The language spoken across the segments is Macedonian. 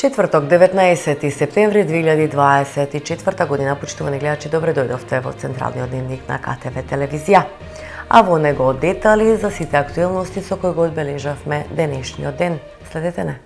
Четврток, 19 септември 2024 година, почитувани гледачи, добре дојдовте во Централниот дневник на КТВ телевизија. А во него детали за сите актуелности со кои го одбележавме денешниот ден. Следете не.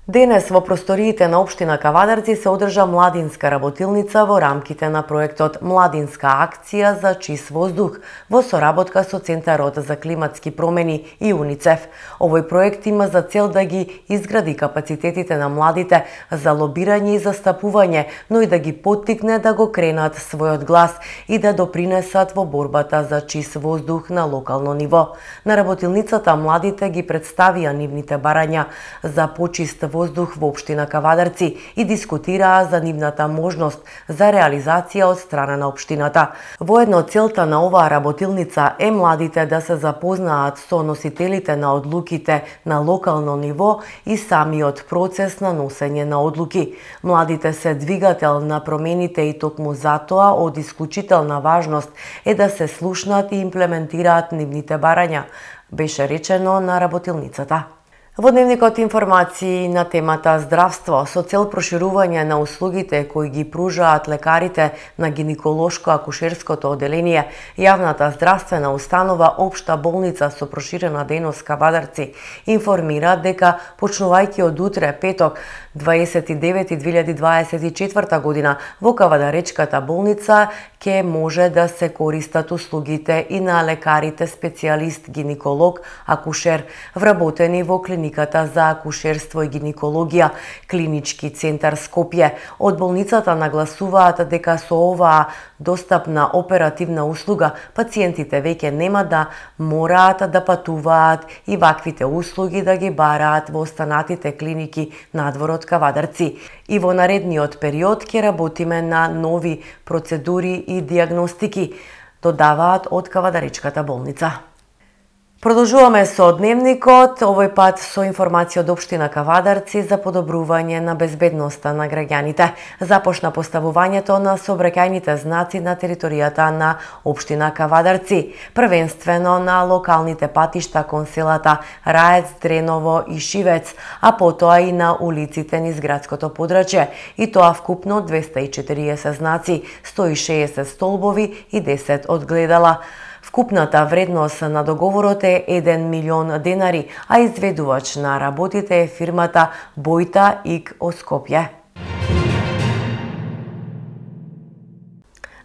Денес во просториите на општина Кавадарци се одржа младинска работилница во рамките на проектот Младинска акција за чист воздух во соработка со Центарот за климатски промени и УНИЦЕФ. Овој проект има за цел да ги изгради капацитетите на младите за лобирање и застапување, но и да ги поттикне да го кренат својот глас и да допринесат во борбата за чист воздух на локално ниво. На работилницата младите ги представија нивните барања за почист воздух во општина Кавадарци и дискутираа за нивната можност за реализација од страна на општината. Воедно целта на оваа работилница е младите да се запознаат со носителите на одлуките на локално ниво и самиот процес на носење на одлуки. Младите се двигател на промените и токму затоа од исклучителна важност е да се слушнат и имплементираат нивните барања, беше речено на работилницата. Во дневникот информации на темата здравство со цел проширување на услугите кои ги пружаат лекарите на гинеколошко-акушерското оделение, јавната здравствена установа Општа болница со проширена дејност Кавадарци информира дека почнувајќи од утре, петок, 29.2024 година, во Кавадаречката болница ќе може да се користат услугите и на лекарите специјалист гинеколог, акушер, вработени во клиниката за акушерство и гинекологија, Клинички центар Скопје. Од болницата нагласуваат дека со оваа достапна оперативна услуга пациентите веќе нема да мораат да патуваат и ваквите услуги да ги бараат во останатите клиники надвор од Кавадарци. И во наредниот период ќе работиме на нови процедури и диагностики, додаваат од Кавадаречката болница. Продолжуваме со дневникот, овој пат со информација од општина Кавадарци за подобрување на безбедноста на граѓаните. Започна поставувањето на сообраќајните знаци на територијата на општина Кавадарци, првенствено на локалните патишта кон селата Раец, Дреново и Шивец, а потоа и на улиците низ градското подрачје, и тоа вкупно 240 знаци, 160 столбови и 10 одгледала. Вкупната вредност на договорот е 1 милион денари, а изведувач на работите е фирмата Бојта ИК од Скопје.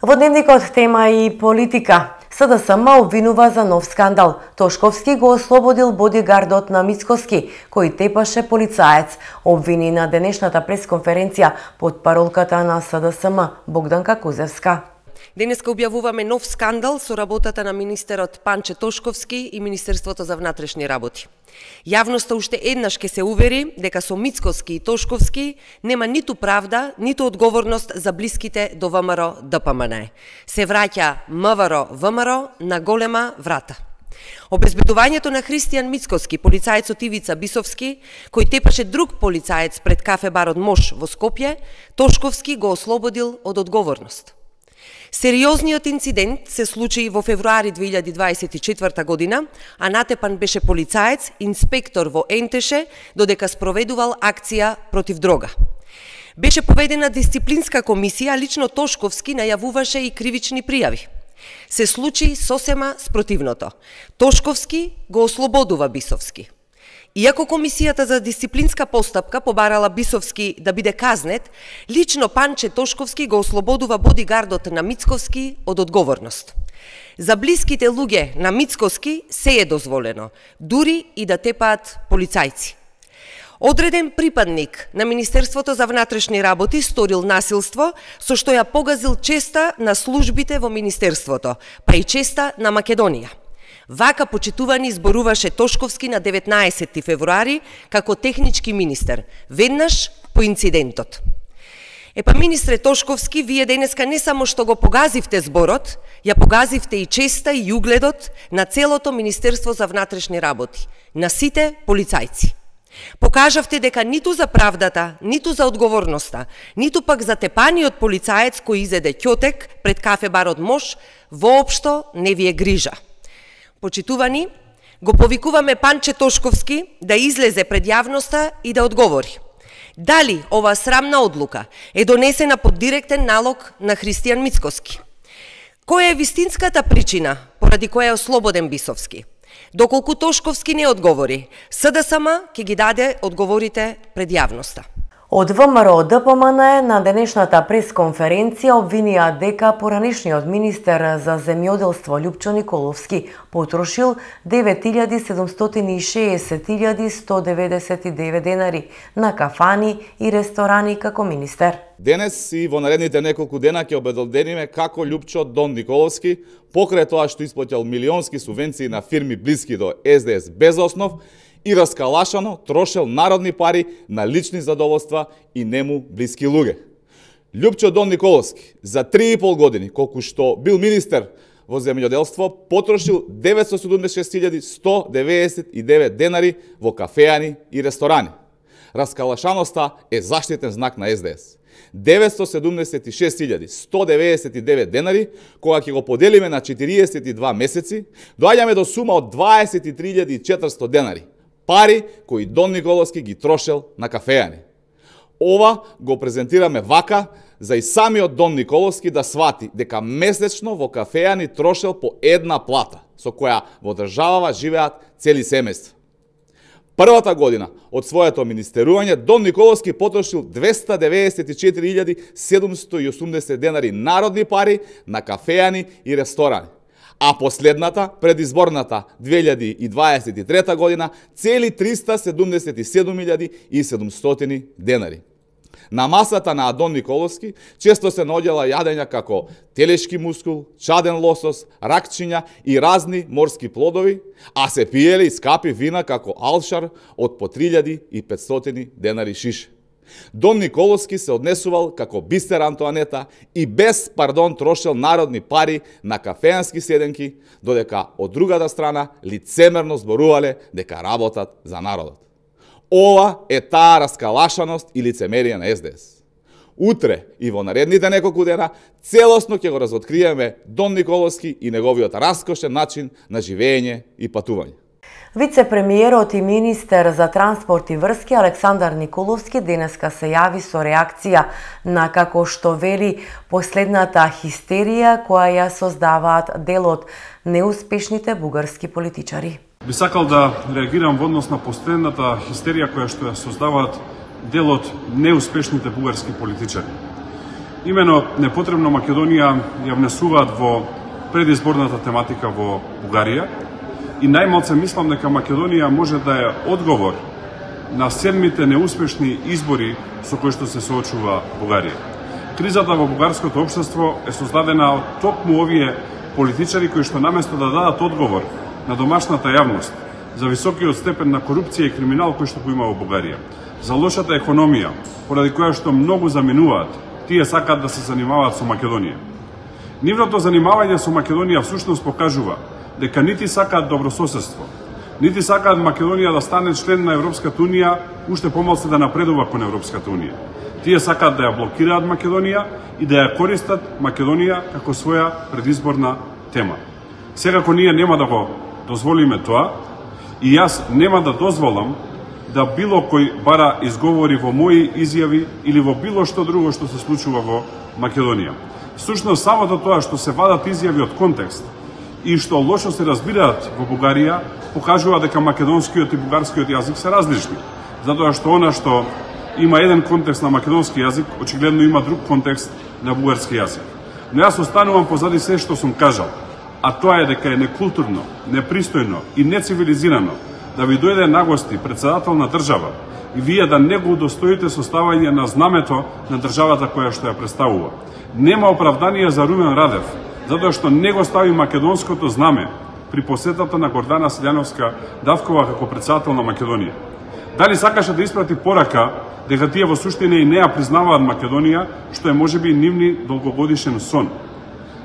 Во дневникот тема и политика. СДСМ обвинува за нов скандал. Тошковски го ослободил бодигардот на Мицкоски, кој тепаше полицаец, обвини на денешната пресконференција под паролката на СДСМ Богданка Кузевска. Денеска објавуваме нов скандал со работата на министерот Панче Тошковски и Министерството за внатрешни работи. Јавноста уште еднаш ќе се увери дека со Мицкоски и Тошковски нема ниту правда, ниту одговорност за блиските до ВМРО ДПМН. Се враќа МВР ВМРО на голема врата. Обезбедувањето на Христијан Мицкоски, полицаецот Ивица Бисовски, кој тепаше друг полицаец пред кафе барот Мош во Скопје, Тошковски го ослободил од одговорност. Сериозниот инцидент се случи во февруари 2024 година, а натепан беше полицаец, инспектор во Ентеше, додека спроведувал акција против дрога. Беше поведена дисциплинска комисија, а лично Тошковски најавуваше и кривични пријави. Се случи сосема спротивното. Тошковски го ослободува Бисовски. Иако комисијата за дисциплинска постапка побарала Бисовски да биде казнет, лично Панче Тошковски го ослободува бодигардот на Мицковски од одговорност. За блиските луѓе на Мицковски се е дозволено, дури и да тепаат полицајци. Одреден припадник на Министерството за внатрешни работи сторил насилство со што ја погазил честа на службите во Министерството, па и честа на Македонија. Вака почитувани зборуваше Тошковски на 19 февруари како технички министер, веднаш по инцидентот. Министре Тошковски, вие денеска не само што го погазивте зборот, ја погазивте и честа и угледот на целото Министерство за внатрешни работи, на сите полицајци. Покажавте дека ниту за правдата, ниту за одговорноста, ниту пак за тепаниот полицаец кој изеде ќотек пред кафе барот Мош, воопшто не ви е грижа. Почитувани, Го повикуваме Панче Тошковски да излезе пред јавноста и да одговори. Дали оваа срамна одлука е донесена под директен налог на Христијан Мицкоски? Која е вистинската причина поради која е ослободен Бисовски? Доколку Тошковски не одговори, СДСМ ќе ги даде одговорите пред јавноста. Од ВМРО ДПМН на денешната пресконференција обвинија дека поранешниот министер за земјоделство Љупчо Николовски потрошил 9.760.199 денари на кафани и ресторани како министер. Денес и во наредните неколку дена ќе обелодениме како Љупчо Дон Николовски, покрај тоа што исплатил милионски субвенции на фирми блиски до СДС без основ, и раскалашано трошел народни пари на лични задоволства и нему блиски луѓе. Љупчо Дон Николовски за 3,5 години, колку што бил министер во земјоделство, потрошил 976.199 денари во кафеани и ресторани. Раскалашаноста е заштитен знак на СДС. 976.199 денари, кога ќе го поделиме на 42 месеци, доаѓаме до сума од 23.400 денари. Пари кои Дон Николовски ги трошел на кафеани. Ова го презентираме вака за и самиот Дон Николовски да свати дека месечно во кафеани трошел по една плата, со која во државава живеат цели семејства. Првата година од своето министерување Дон Николовски потрошил 294.780 денари народни пари на кафеани и ресторани. А последната, предизборната 2023 година, цели 377.700 денари. На масата на Дон Николовски често се наоѓала јадења како телешки мускул, чаден лосос, ракчиња и разни морски плодови, а се пиеле и скапи вина како алшар од по 3.500 денари шише. Дон Николовски се однесувал како Бистер Антоанета и без пардон трошел народни пари на кафеански седенки, додека од другата страна лицемерно зборувале дека работат за народот. Ова е таа раскалашаност и лицемерие на СДС. Утре и во наредните неколку дена целосно ќе го разоткриеме Дон Николовски и неговиот раскошен начин на живење и патување. Вице-премиерот и министер за транспорт и врски Александар Николовски денеска се јави со реакција на, како што вели, последната хистерија која ја создаваат дел од неуспешните бугарски политичари. Би сакал да реагирам во однос на последната хистерија која што ја создаваат дел од неуспешните бугарски политичари. Имено непотребно Македонија ја внесуваат во предизборната тематика во Бугарија, и најмалце мислам дека Македонија може да е одговор на 7-мите неуспешни избори со кои што се соочува Бугарија. Кризата во бугарското општество е создадена од токму овие политичари кои што наместо да дадат одговор на домашната јавност за високиот степен на корупција и криминал кој што го има во Бугарија, за лошата економија, поради која што многу заминуваат, тие сакаат да се занимаваат со Македонија. Нивното занимавање со Македонија всушност покажува дека нити сакаат добрососедство, нити сакаат Македонија да стане член на Европската Унија, уште помалку да напредува кон Европската Унија. Тие сакаат да ја блокираат Македонија и да ја користат Македонија како своја предизборна тема. Секако ние нема да го дозволиме тоа и јас нема да дозволам да било кој бара изговори во мои изјави или во било што друго што се случува во Македонија. Всушност самото тоа што се вадат изјави од контекст и што лошо се разбираат во Бугарија, покажува дека македонскиот и бугарскиот јазик се различни. Затоа што она што има еден контекст на македонски јазик, очигледно има друг контекст на бугарски јазик. Но јас останувам позади се што сум кажал, а тоа е дека е некултурно, непристојно и нецивилизирано да ви дојде на гости председател на држава и вие да не го удостоите со ставање на знамето на државата која што ја представува. Нема оправдание за Румен Радев, затоа што не го стави македонското знаме при посетата на Гордана Силјановска Давкова како председател на Македонија. Дали сакаше да испрати порака дека тие во суштина и не ја признаваат Македонија, што е можеби нивни долгогодишен сон.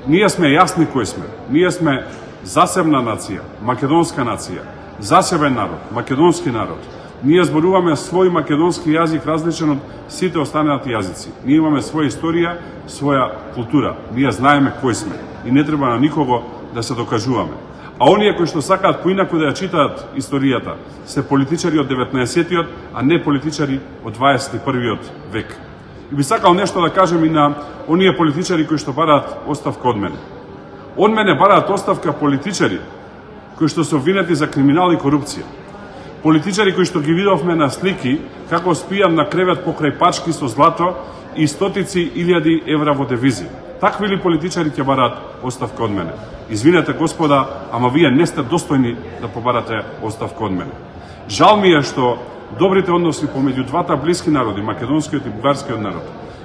Ние сме јасни кои сме. Ние сме засебна нација, македонска нација, засебен народ, македонски народ. Ние зборуваме свој македонски јазик различен од сите останати јазици. Ние имаме своја историја, своја култура. Ние знаеме кои сме и не треба на никого да се докажуваме. А оние кои што сакаат поинаку да ја читаат историјата се политичари од 19-тиот, а не политичари од 21-виот век. И би сакал нешто да кажем и на оние политичари кои што бараат оставка од мене. Од мене бараат оставка политичари кои што се обвинети за криминал и корупција. Политичари кои што ги видовме на слики како спијан на кревет покрај пачки со злато и стотици илјади евра во девизи. Такви ли политичари ќе бараат оставка од мене? Извинете, господа, ама вие не сте достојни да побарате оставка од мене. Жал ми е што добрите односи помеѓу двата блиски народи, македонскиот и бугарскиот народ,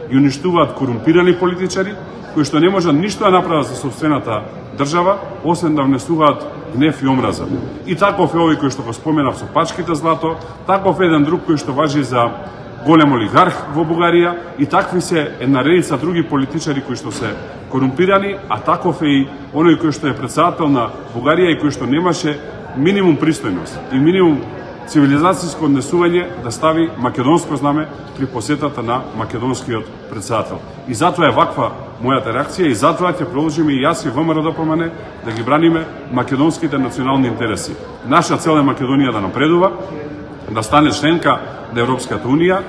ги уништуваат корумпирани политичари кои што не можат ништо да направат за сопствената држава, освен да внесуваат гнев и омраза. И таков е овој кој што го споменав со пачките злато, таков е еден друг кој што важи за голем олигарх во Бугарија, и такви се една редица други политичари кои што се корумпирани, а таков е и оној кој што е председател на Бугарија и кој што немаше минимум пристојност и минимум цивилизацијско однесување да стави македонско знаме при посетата на македонскиот председател. И затоа е ваква мојата реакција и затоа ќе продолжиме и јас и ВМРО да ги браниме македонските национални интереси. Наша цел е Македонија да напредува, да стане членка на Европската Унија,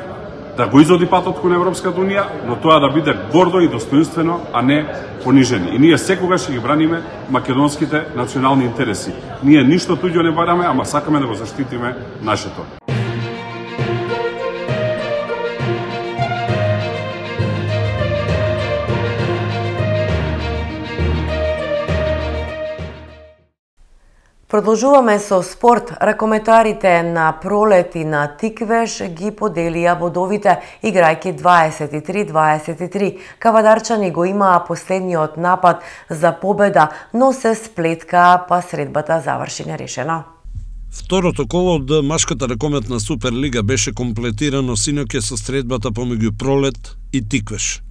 да го изоди патот кон Европската Унија, но тоа да биде гордо и достоинствено, а не понижени. И ние секогаш ќе ги браниме македонските национални интереси. Ние ништо туѓо не бараме, ама сакаме да го заштитиме нашето. Продолжуваме со спорт. Ракометарите на Пролет и на Тиквеш ги поделија бодовите, играјќи 23-23. Кавадарчани го имаа последниот напад за победа, но се сплетка, па средбата заврши нерешена. Второто коло од машката ракометна Суперлига беше комплетирано синоќа со средбата помеѓу Пролет и Тиквеш.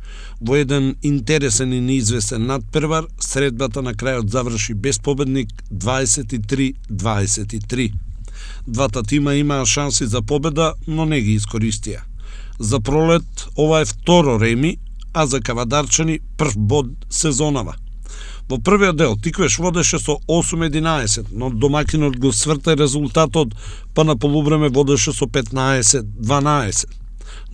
Во еден интересен и неизвестен надпревар, средбата на крајот заврши без победник 23-23. Двата тима имаа шанси за победа, но не ги искористија. За Пролет ова е второ реми, а за Кавадарчани прв бод сезонава. Во првиот дел Тиквеш водеше со 8-11, но домакинот го сврта резултатот, па на полувреме водеше со 15-12.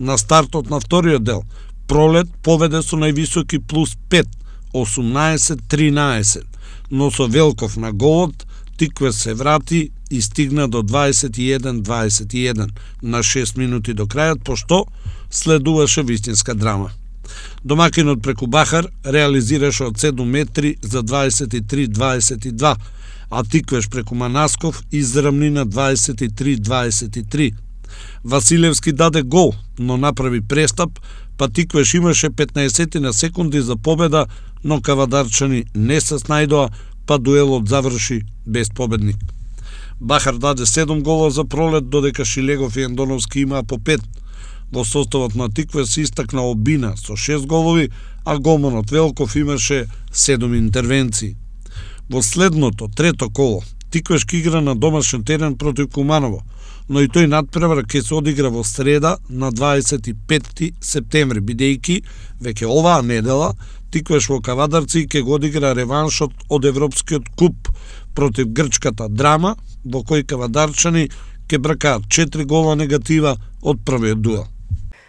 На стартот на вториот дел Пролет поведе со највисоки плюс 5, 18-13, но со Велков на голот Тиквеш се врати и стигна до 21-21 на 6 минути до крајот, пошто следуваше вистинска драма. Домакинот преку Бахар реализираше од 7 метри за 23-22, а Тиквеш преку Манасков израмни на 23-23. Василевски даде гол, но направи престап, па Тиквеш имаше 15 на секунди за победа, но Кавадарчани не се снајдоа, па дуелот заврши без победник. Бахар даде 7 гола за Пролет, додека Шилегов и Андоновски имаа по 5. Во составот на Тиквеш се истакна Обина со 6 голови, а голманот Велков имаше 7 интервенции. Во следното, трето коло, Тиквеш игра на домашен терен против Куманово, но и тој надпревар ќе се одигра во среда на 25 септември, бидејќи веќе оваа недела Тиквеш во Кавадарци ќе го одигра реваншот од Европскиот куп против грчката Драма, во кој Кавадарчани ќе бракаат 4 гола негатива од првиот дуел.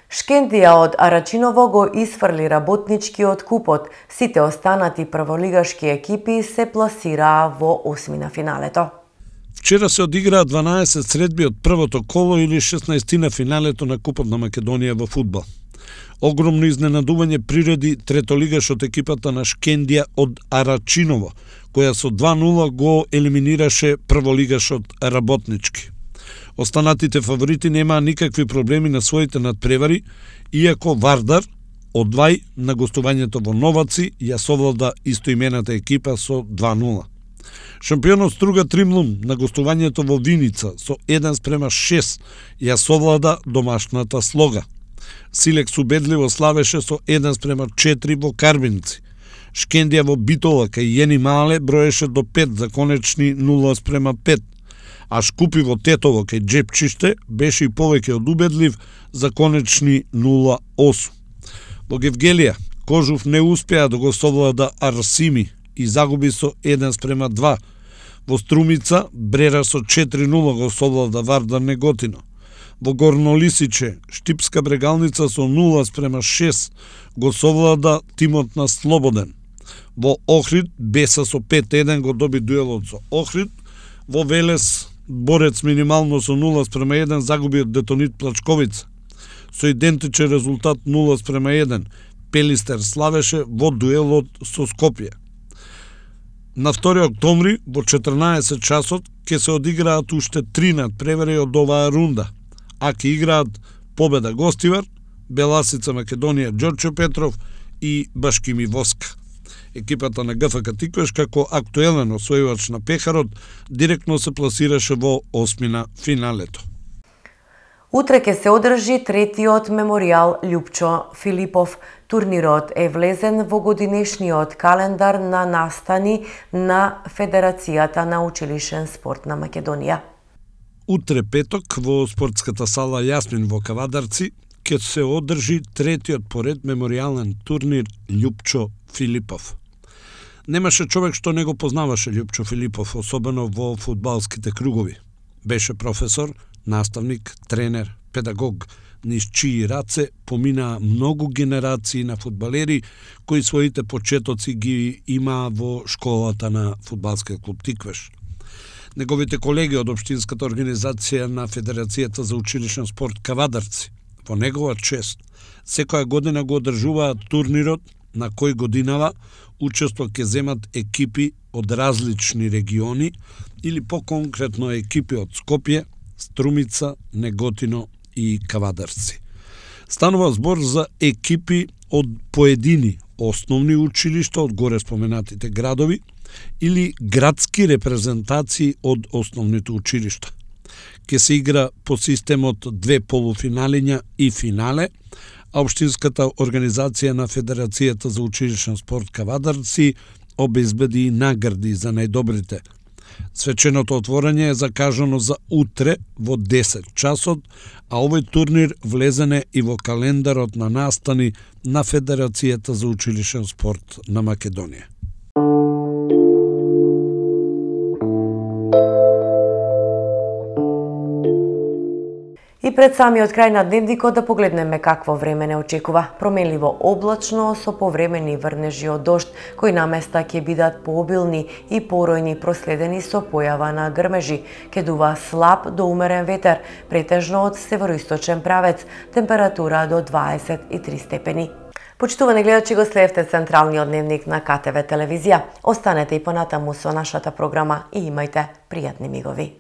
Шкендија од Арачиново го исфрли работничкиот купот. Сите останати прволигашки екипи се пласираа во осмина финалето. Вчера се одиграа 12 средби од првото коло или 16 на финалето на Купот на Македонија во фудбал. Огромно изненадување приреди третолигаш од екипата на Шкендија од Арачиново, која со 2-0 го елиминираше прволигашот Работнички. Останатите фаворити немаа никакви проблеми на своите надпревари, иако Вардар од Вај на гостувањето во Новаци ја совлада истоимената екипа со 2-0. Шампионот Струга Тримлун на гостувањето во Виница со 1:6 ја совлада домашната Слога. Силекс убедливо славеше со 1:4 во Карбинци. Шкендија во Битола кај Јени Мале броеше до 5 за конечни 0:5. А Шкупи во Тетово кај Джепчиште беше и повеќе од убедлив за конечни 0:8. Во Гевгелија Кожув не успеа да го совлада Арсими и загуби со 1:2. Во Струмица Брера со 4-0 го совлада Вардар Неготино. Во Горно Лисиче Штипска Брегалница со 0:6 го совлада тимот на Слободен. Во Охрид Беса со 5-1 го доби дуелот со Охрид. Во Велес Борец минимално со 0:1 загуби од Детонит Плачковица. Со идентичен резултат 0:1 Пелистер славеше во дуелот со Скопје. На 2 октомври во 14 часот ќе се одиграат уште 3 надпревари од оваа рунда, а ќе играат Победа Гостивар, Беласица Македонија Ѓорче Петров и Башкими Воска. Екипата на ГФК Тиквеш како актуелен освојувач на пехарот директно се пласираше во осмина финалето. Утре ќе се одржи третиот меморијал Љупчо Филипов. Турнирот е влезен во годинешниот календар на настани на Федерацијата на училишен спорт на Македонија. Утре петок во спортската сала Јасмин во Кавадарци ќе се одржи третиот поред меморијален турнир Љупчо Филипов. Немаше човек што не го познаваше Љупчо Филипов, особено во фудбалските кругови. Беше професор, наставник, тренер, педагог, низ чии раце поминаа многу генерации на фудбалери кои своите почетоци ги имаа во школата на фудбалскиот клуб Тиквеш. Неговите колеги од Општинската организација на Федерацијата за училишен спорт Кавадарци во негова чест секоја година го одржуваат турнирот на кој годинава учество ќе земат екипи од различни региони или поконкретно екипи од Скопје, Струмица, Неготино и Кавадарци. Станува збор за екипи од поедини основни училишта од горе споменатите градови или градски репрезентации од основните училишта. Ке се игра по системот 2 полуфиналиња и финале, а Општинската организација на Федерацијата за училишен спорт Кавадарци обезбеди награди за најдобрите. Свеченото отворање е закажано за утре во 10 часот, а овој турнир влезене и во календарот на настани на Федерацијата за училишен спорт на Македонија. И пред самиот крај на дневникот да погледнеме какво време не очекува. Променливо облачно со повремени врнежи од дожд, кои наместа ќе бидат пообилни и поројни проследени со појава на грмежи. Ќе дува слаб до умерен ветер, претежно од североисточен правец, температура до 23 степени. Почитувани гледачи, го следевте централниот дневник на КТВ телевизија. Останете и понатаму со нашата програма и имајте пријатни мигови.